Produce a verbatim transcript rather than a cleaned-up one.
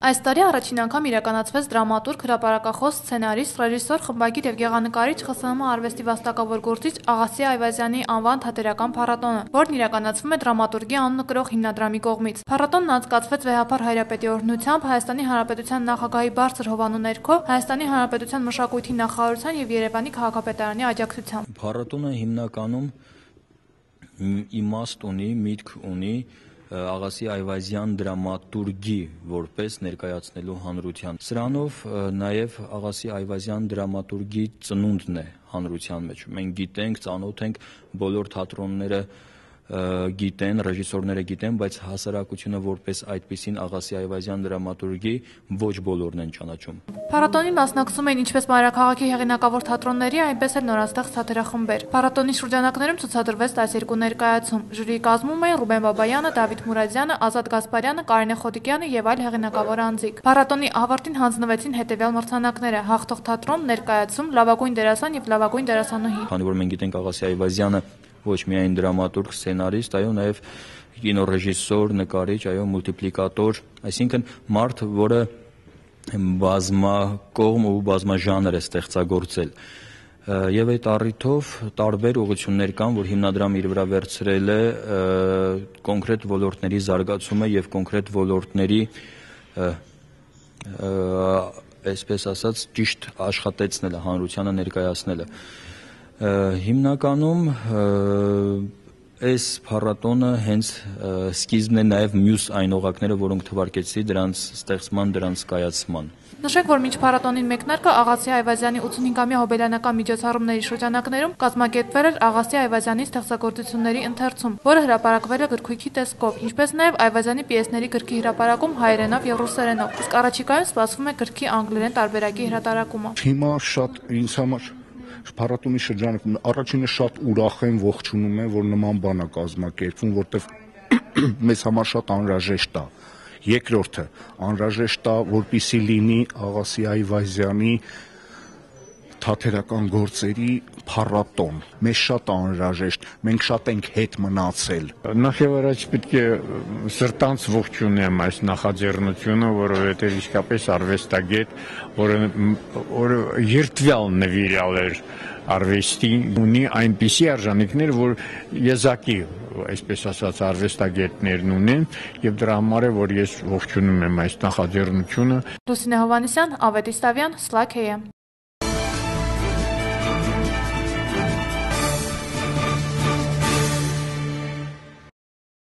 Այս տարի առաջին անգամ իրականացվեց դրամատուրգ, հրապարակախոս, սցենարիստ, ռեժիսոր, խմբագիր և գեղանկարիչ ԽՍՀՄ արվեստի վաստակավոր գործիչ Աղասի Այվազյանի անվան թատերական փառատոնը, որն իրականացվում է դրամատուրգի անունը կրող հիմնադրամի կողմից։ Փառատոնն անցկացվեց Վեհափար Հայրապետի օրհնությամբ Հայաստանի Հանրապետության նախագահի բարձր հովանու ներքո, Հայաստանի Հանրապետության մշակույթի նախարարության և Երևանի քաղաքապետարանի աջակցությամբ։ Փառատոնը հիմնականում իմաստ ունի, միտք ունի Աղասի Այվազյան դրամատուրգի որպես ներկայացնելու հանրության։ Սրանով նաև Աղասի Այվազյան դրամատուրգի ծնունդն է հանրության մեջ։ Մենք գիտենք, ծանոթ ենք, բոլոր թատրոնները գիտեն, ռեժիսորները գիտեն, բայց հասարակությունը որպես այդպիսին Աղասի Այվազյան դրամատուրգի ոչ բոլորն են ճանաչում։ Փառատոնին մասնակցում էին ինչպես մայրաքաղաքի հեղինակավոր թատրոնների, այնպես էլ նորաստեղծ թատերախմբեր։ Փառատոնի շրջանակներում ցուցադրվեց տասներկու ներկայացում։ Ժյուրիի կազմում էին Ռուբեն Բաբայանը, Դավիթ Մուրադյանը, Ազատ Գասպարյանը, Կարինե Խոտիկյանը և այլ հեղինակավոր անձիկ։ Փառատոնի ավարտին հանձնվեցին հետևյալ մրցանակները՝ հաղթող թատրոն, ներկայացում, լավագույն դերասան և լավագույն դերասանուհի։ Քանի որ մենք գիտենք Աղասի Այվազյանը ոչ միայն դրամատուրգ, սցենարիստ, այո, նաև կինոռեժիսոր, նկարիչ, այո, մուլտիպլիկատոր, այսինքն մարդ, որը բազմակողմ ու բազմաժանր է ստեղծագործել։ Եվ այդ առիթով տարբեր ուղղություններ կան, որ հիմնադրամը իր վրա վերցրել է կոնկրետ ոլորտների զարգացումը եւ կոնկրետ ոլորտների, այսպես ասած, ճիշտ աշխատեցնելը, հանրությանը ներկայացնելը։ Հիմնականում այս փառատոնը հենց սկիզբն է նաև մյուս այն օղակները, որոնք թվարկեցի դրանց ստեղծման, դրանց կայացման։ Նշենք, որ մինչ փառատոնին մեկնարկը Աղասի Այվազյանի ութսունհինգամյա հոբելյանական միջոցառումների շրջանակներում կազմակերպվել էր Աղասի Այվազյանի ստեղծագործությունների ընթերցում, որը հրապարակվել է գրքույկի տեսքով, ինչպես նաև Այվազյանի պիեսների գրքի հրապարակում հայերենով և ռուսերենով, իսկ առաջիկայում սպասվում է գրքի անգլերեն տարբերակի հրատարակումը։ Հիմա շատ ինձ համար փառատոնի շրջանում առաջինը շատ ուրախ եմ, ողջունում եմ, որ նման բան է կազմակերպվում, որտեղ մեզ համար շատ անհրաժեշտ է։ Երկրորդը անհրաժեշտ է, որպեսզի լինի Աղասի Այվազյանի թատերական գործերի փառատոն։ Մեզ շատ անհրաժեշտ, մենք շատ ենք հետ մնացել։ Նախ եւ առաջ պետք է սրտանց ողջունեմ այս նախաձեռնությունը, որովհետեւ իսկապես արվեստագետ, որը երթվյալ նվիրյալ էր արվեստի, ունի այնպիսի արժանինքներ, որ եզակի, այսպես ասած, արվեստագետներն ունեն, եւ դրա համար է, որ ես ողջունում եմ այս նախաձեռնությունը։ Լուսինե Հովհաննիսյան, Ավետ Իսավյան, Սլաքեյը։